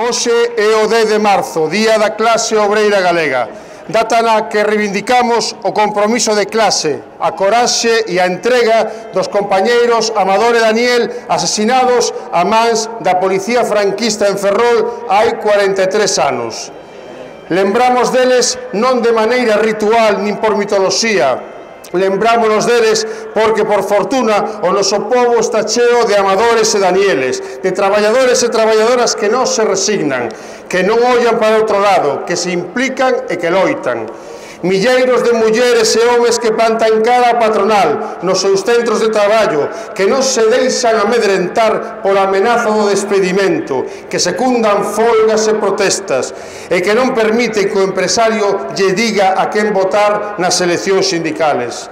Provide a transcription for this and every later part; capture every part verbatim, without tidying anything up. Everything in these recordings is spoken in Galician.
Hoxe é o dez de marzo, Día da Clase Obreira Galega, data na que reivindicamos o compromiso de clase, a coraxe e a entrega dos compañeiros Amador e Daniel asesinados a mans da policía franquista en Ferrol hai cuarenta e tres anos. Lembramos deles non de maneira ritual nin por mitoloxía, lembrámonos deles porque, por fortuna, o noso povo está cheo de amadores e danieles, de traballadores e traballadoras que non se resignan, que non ollan para outro lado, que se implican e que loitan. Milleiros de mulleres e homes que plantan cara a patronal nos seus centros de traballo, que non se deixan amedrentar pola amenaza do despedimento, que secundan folgas e protestas, e que non permiten que o empresario lle diga a quen votar nas eleccións sindicales.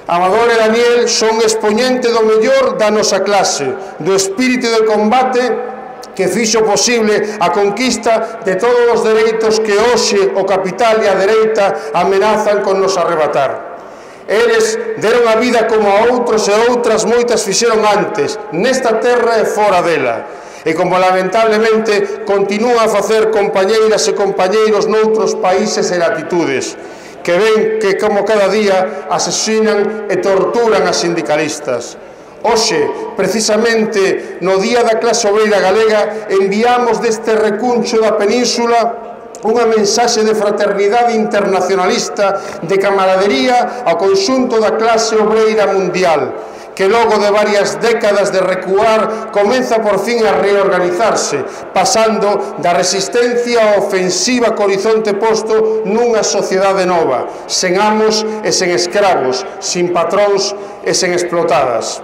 Amador e Daniel son expoñente do mellor da nosa clase, do espírito de combate que fixo posible a conquista de todos os dereitos que hoxe o capital e a dereita amenazan con nos arrebatar. Eles deron a vida como a outros e outras moitas fixeron antes, nesta terra e fora dela. E como lamentablemente continúan a facer compañeiras e compañeiros noutros países e latitudes, que ven que como cada día asesinan e torturan a sindicalistas. Hoxe, precisamente no Día da Clase Obreira Galega, enviamos deste recuncho da península unha mensaxe de fraternidade internacionalista, de camaradería ao conxunto da clase obreira mundial, que logo de varias décadas de recuar comeza por fin a reorganizarse, pasando da resistencia á ofensiva co horizonte posto nunha sociedade nova, sen amos e sen escravos, sin patróns e sen explotadas.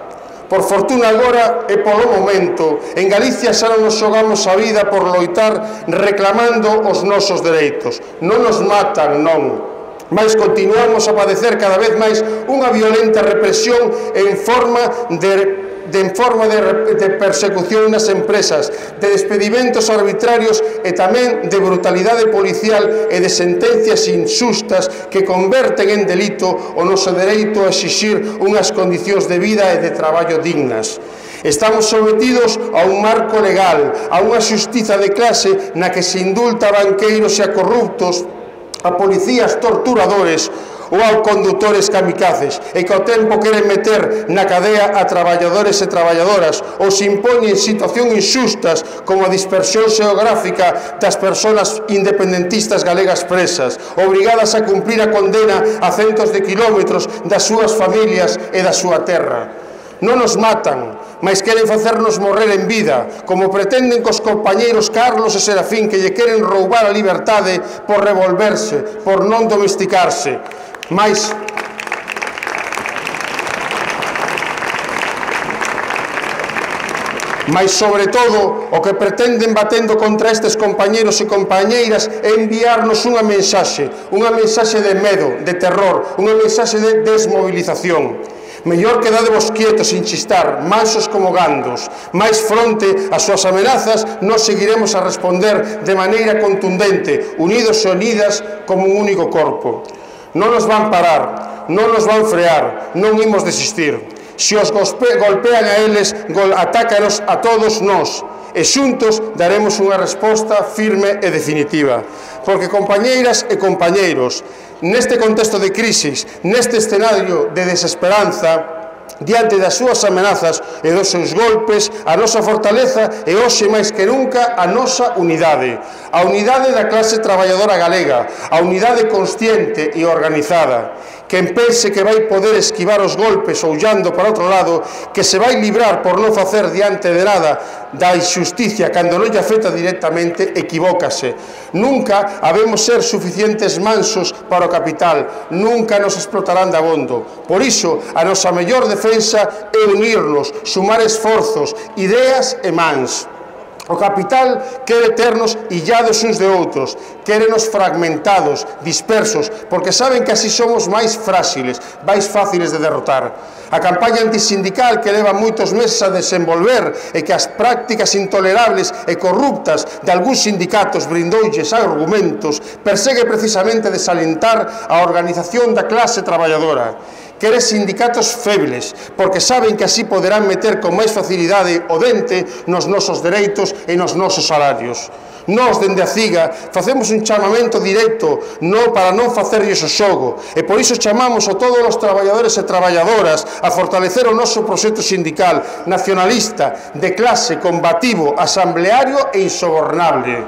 Por fortuna agora e polo momento, en Galicia xa non nos xogamos a vida por loitar reclamando os nosos dereitos. Non nos matan, non. Mas continuamos a padecer cada vez máis unha violenta represión en forma de de en forma de, de persecución nas empresas, de despedimentos arbitrarios e tamén de brutalidade policial e de sentencias injustas que converten en delito o noso dereito a exixir unhas condicións de vida e de traballo dignas. Estamos sometidos a un marco legal, a unha xustiza de clase na que se indulta a banqueiros e a corruptos, a policías torturadores ou a condutores kamikazes, e que ao tempo queren meter na cadea a traballadores e traballadoras, ou se impoñen situacións injustas como a dispersión xeográfica das persoas independentistas galegas presas, obrigadas a cumprir a condena a centos de kilómetros das súas familias e da súa terra. Non nos matan, mas queren facernos morrer en vida, como pretenden cos compañeiros Carlos e Serafín, que lle queren roubar a liberdade por revolverse, por non domesticarse. Mas Mas, sobre todo, o que pretenden batendo contra estes compañeiros e compañeiras é enviarnos unha mensaxe, unha mensaxe de medo, de terror, unha mensaxe de desmovilización. Mellor quedadevos quietos sin chistar, mansos como gandos, máis fronte ás súas amenazas nos seguiremos a responder de maneira contundente, unidos e unidas como un único corpo. Non nos van parar, non nos van frear, non imos desistir. Se os golpean a eles, atácanos a todos nós, e xuntos daremos unha resposta firme e definitiva. Porque, compañeiras e compañeiros, neste contexto de crisis, neste escenario de desesperanza, diante das súas amenazas e dos seus golpes, a nosa fortaleza é hoxe máis que nunca a nosa unidade. A unidade da clase traballadora galega, a unidade consciente e organizada. Quen pense que vai poder esquivar os golpes ollando para outro lado, que se vai librar por non facer diante de nada da injusticia cando non lle afecta directamente, equivócase. Nunca habemos ser suficientes mansos para o capital, nunca nos explotarán de abondo. Por iso, a nosa mellor defensa é unirnos, sumar esforzos, ideas e mans. O capital quere ternos illados uns de outros, quérenos fragmentados, dispersos, porque saben que así somos máis frágiles, máis fáciles de derrotar. A campaña antisindical que leva moitos meses a desenvolver e que as prácticas intolerables e corruptas de algúns sindicatos brindoulles argumentos persegue precisamente desalentar a organización da clase traballadora. quere sindicatos febles, porque saben que así poderán meter con máis facilidade o dente nos nosos dereitos e nos nosos salarios. Nós, dende a CIGA, facemos un chamamento directo no para non facerlles o xogo, e por iso chamamos a todos os traballadores e traballadoras a fortalecer o noso proxecto sindical nacionalista, de clase, combativo, asambleario e insobornable.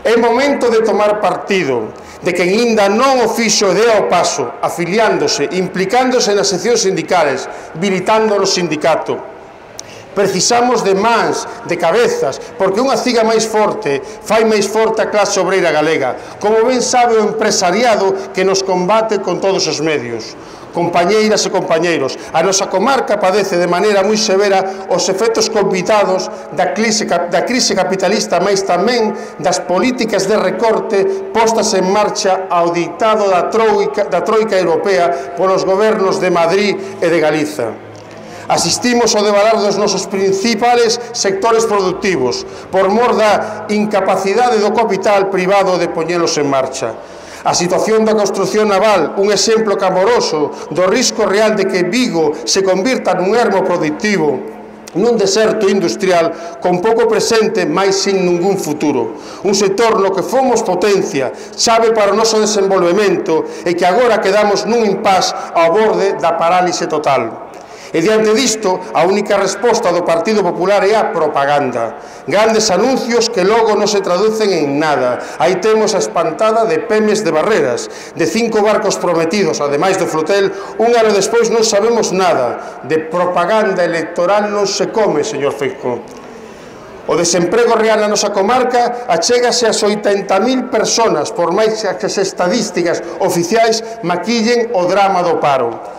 É momento de tomar partido, de quen inda non o fixo e dea o paso, afiliándose, implicándose nas seccións sindicales, militando no sindicato. Precisamos de mans, de cabezas, porque unha CIGA máis forte fai máis forte a clase obreira galega, como ben sabe o empresariado que nos combate con todos os medios. Compañeiras e compañeiros, a nosa comarca padece de maneira moi severa os efectos convitados da crise, da crise capitalista, mais tamén das políticas de recorte postas en marcha ao dictado da troika, da troika europea polos gobernos de Madrid e de Galiza. Asistimos ao devalar dos nosos principales sectores productivos por mor da incapacidade do capital privado de poñelos en marcha. A situación da construción naval, un exemplo clamoroso do risco real de que Vigo se convirta nun ermo productivo, nun deserto industrial con pouco presente, mais sin ningún futuro. Un sector no que fomos potencia, chave para o noso desenvolvemento e que agora quedamos nun impás ao borde da parálise total. E diante disto, a única resposta do Partido Popular é a propaganda. Grandes anuncios que logo non se traducen en nada. Aí temos a espantada de Pemes de Barreras, de cinco barcos prometidos, ademais do flotel, un ano despois non sabemos nada. De propaganda electoral non se come, señor Feijóo. O desemprego real na nosa comarca achégase ás oitenta mil persoas, por máis que as estadísticas oficiais maquillen o drama do paro.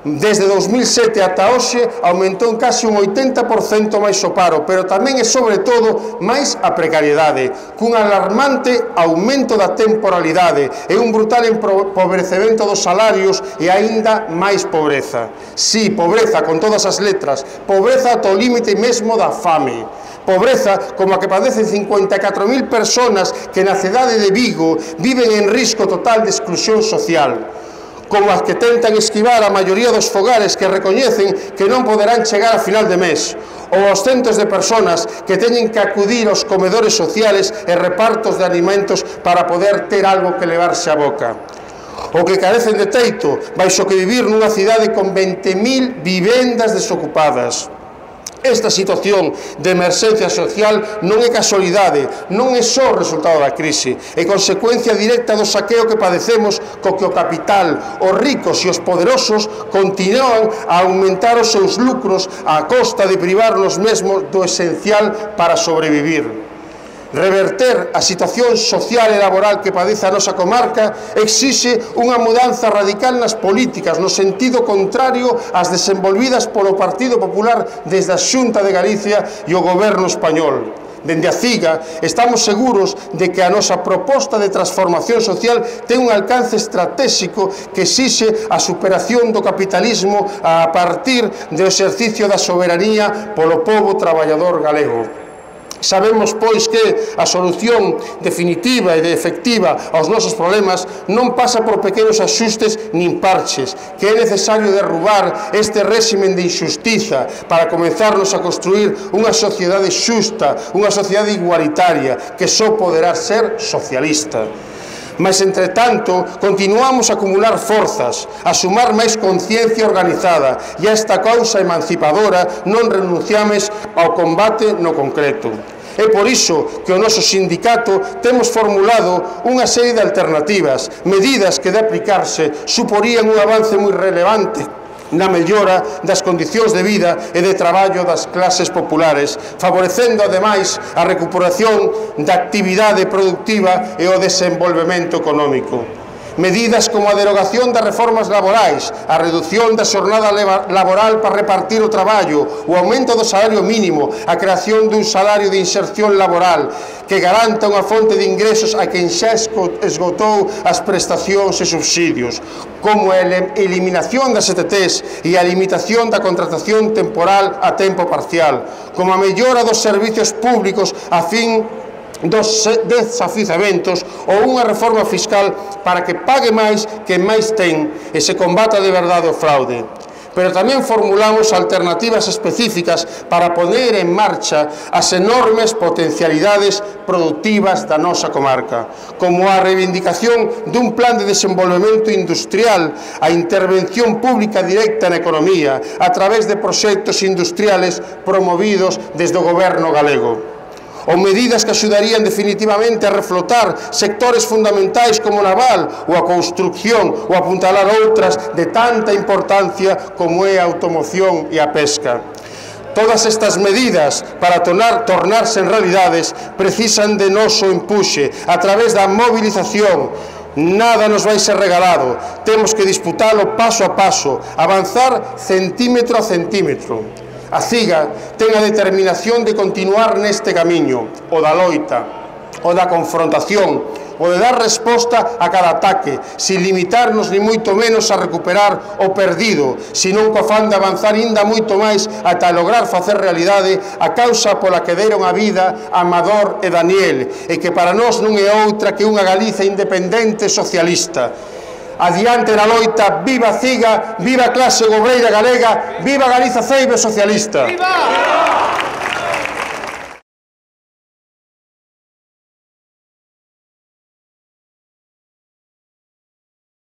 Desde dos mil sete ata hoxe aumentou en case un oitenta por cento máis o paro, pero tamén e sobre todo máis a precariedade, cun alarmante aumento da temporalidade e un brutal empobrecemento dos salarios e aínda máis pobreza. Si, pobreza con todas as letras, pobreza ata o límite mesmo da fame. Pobreza como a que padecen cincuenta e catro mil persoas que na cidade de Vigo viven en risco total de exclusión social, como as que tentan esquivar a maioría dos fogares que recoñecen que non poderán chegar a final de mes, ou aos centos de persoas que teñen que acudir aos comedores sociales e repartos de alimentos para poder ter algo que levarse á boca, ou que carecen de teito, baixo que vivir nunha cidade con vinte mil vivendas desocupadas. Esta situación de emerxencia social non é casualidade, non é só resultado da crise, é consecuencia directa do saqueo que padecemos co que o capital, os ricos e os poderosos continúan a aumentar os seus lucros á costa de privarnos mesmos do esencial para sobrevivir. Reverter a situación social e laboral que padece a nosa comarca exixe unha mudanza radical nas políticas, no sentido contrario ás desenvolvidas polo Partido Popular desde a Xunta de Galicia e o Goberno español. Dende a CIGA estamos seguros de que a nosa proposta de transformación social ten un alcance estratégico que exixe a superación do capitalismo a partir do exercicio da soberanía polo pobo traballador galego. Sabemos, pois, que a solución definitiva e efectiva aos nosos problemas non pasa por pequenos axustes nin parches, que é necesario derrubar este réximen de injustiza para comenzarnos a construir unha sociedade xusta, unha sociedade igualitaria, que só poderá ser socialista. Mas, entretanto, continuamos a acumular forzas, a sumar máis conciencia organizada e a esta causa emancipadora non renunciames ao combate no concreto. É por iso que o noso sindicato temos formulado unha serie de alternativas, medidas que de aplicarse suporían un avance moi relevante na mellora das condicións de vida e de traballo das clases populares, favorecendo, ademais, a recuperación da actividade productiva e o desenvolvemento económico. Medidas como a derogación das reformas laborais, a reducción da xornada laboral para repartir o traballo, o aumento do salario mínimo, a creación dun salario de inserción laboral que garanta unha fonte de ingresos a quen xa esgotou as prestacións e subsidios, como a eliminación das E T Ts e a limitación da contratación temporal a tempo parcial, como a mellora dos servicios públicos a fin dos desafizamentos ou unha reforma fiscal para que pague máis quen máis ten e se combata de verdade o fraude. Pero tamén formulamos alternativas específicas para poner en marcha as enormes potencialidades productivas da nosa comarca, como a reivindicación dun plan de desenvolvemento industrial, a intervención pública directa na economía, a través de proxectos industriales promovidos desde o goberno galego, ou medidas que axudarían definitivamente a reflotar sectores fundamentais como o naval ou a construcción ou apuntalar outras de tanta importancia como é a automoción e a pesca. Todas estas medidas para tornar, tornarse en realidades precisan de noso empuxe a través da movilización. Nada nos vai ser regalado, temos que disputalo paso a paso, avanzar centímetro a centímetro. A CIGA ten a determinación de continuar neste camiño, o da loita, o da confrontación, o de dar resposta a cada ataque, sin limitarnos ni moito menos a recuperar o perdido, senón co afán de avanzar inda moito máis ata lograr facer realidade a causa pola que deron a vida Amador e Daniel, e que para nós non é outra que unha Galiza independente socialista. Adiante na loita, viva CIGA, viva a clase obreira galega, viva Galiza Ceibe socialista. ¡Viva!